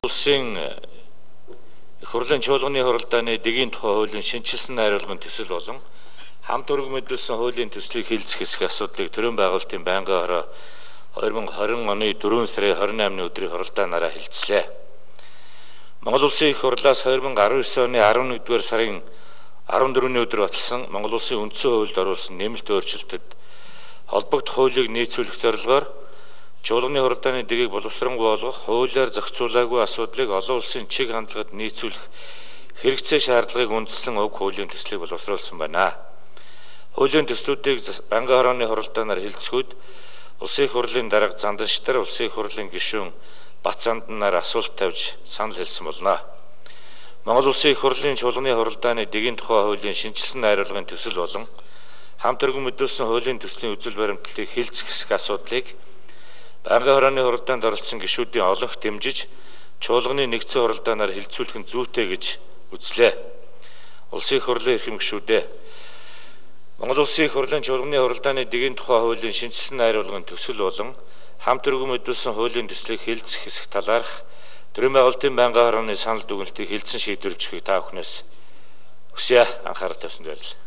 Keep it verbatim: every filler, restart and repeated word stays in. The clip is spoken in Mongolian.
Улсын их хурлын чуулганы хуралдааны дэгийн тухай хуулийн шинжилсэн найруулгын төсөл болон хамт өргөмөдлсөн хуулийн төслийг хэлцэх хэсэг асуудлыг төрийн байгуулалтын байнгын хороо две тысячи двадцать оны дөрвөн сарын двадцать eighны өдрийн хуралдаанаараа хэлцлээ. Монгол Улсын их хурлаас две тысячи десять оны elevenduгаар сарын fourteenний өдөр баталсан Монгол Улсын үндсэн хуульд оруулсан нэмэлт өөрчлөлтөд холбогдох хуулийг нийцүүлэх зорилгоор чуулганы хуралдааны дэгийг боловсронгуй болгох, хуулиар зохицуулаагүй асуудлыг олон улсын чиг хандлагад нийцүүлэх хэрэгцээ шаардлагыг үндэслэн уг хуулийн төслийг боловсруулсан байна. Хуулийн төслүүдийг байнгын хорооны хуралдаанаар хэлцгүүд Улсын их хурлын дарга Занданштар, Улсын их хурлын гишүүн Бацаанданаар асуулт тавьж санал хэлсэн болно. Монгол Улсын их хурлын чуулганы хуралдааны дэгийн тухай хуулийн шинжилсэн найруулгын төсөл болон хамт өргөмөдлсөн хуулийн төслийн үзэл баримтлалыг хэлцэх хэсэг асуудлыг байнгын хорооны хуралдаанд оролцсон гишүүдийн олонх дэмжиж чуулганы нэгдсэн хуралдаанаар хэлцүүлэх нь зүйтэй гэж үзлээ. Улсын их хурлын эрхэм гишүүдээ Монгол Улсын их хурлын чуулганы хуралдааны дэгийн тухай хуулийн шинжилсэн найруулгын төсөл болон хамт өргөмөдлсөн хуулийн төслийг хэлцэх хэсэг талаарх төрийн байгуулалтын байнгын хорооны санал дүгнэлтийг хэлцэн шийдвэрлэж өгөхийг та бүхнээс хүсье анхаарал тавьсанд баярлалаа.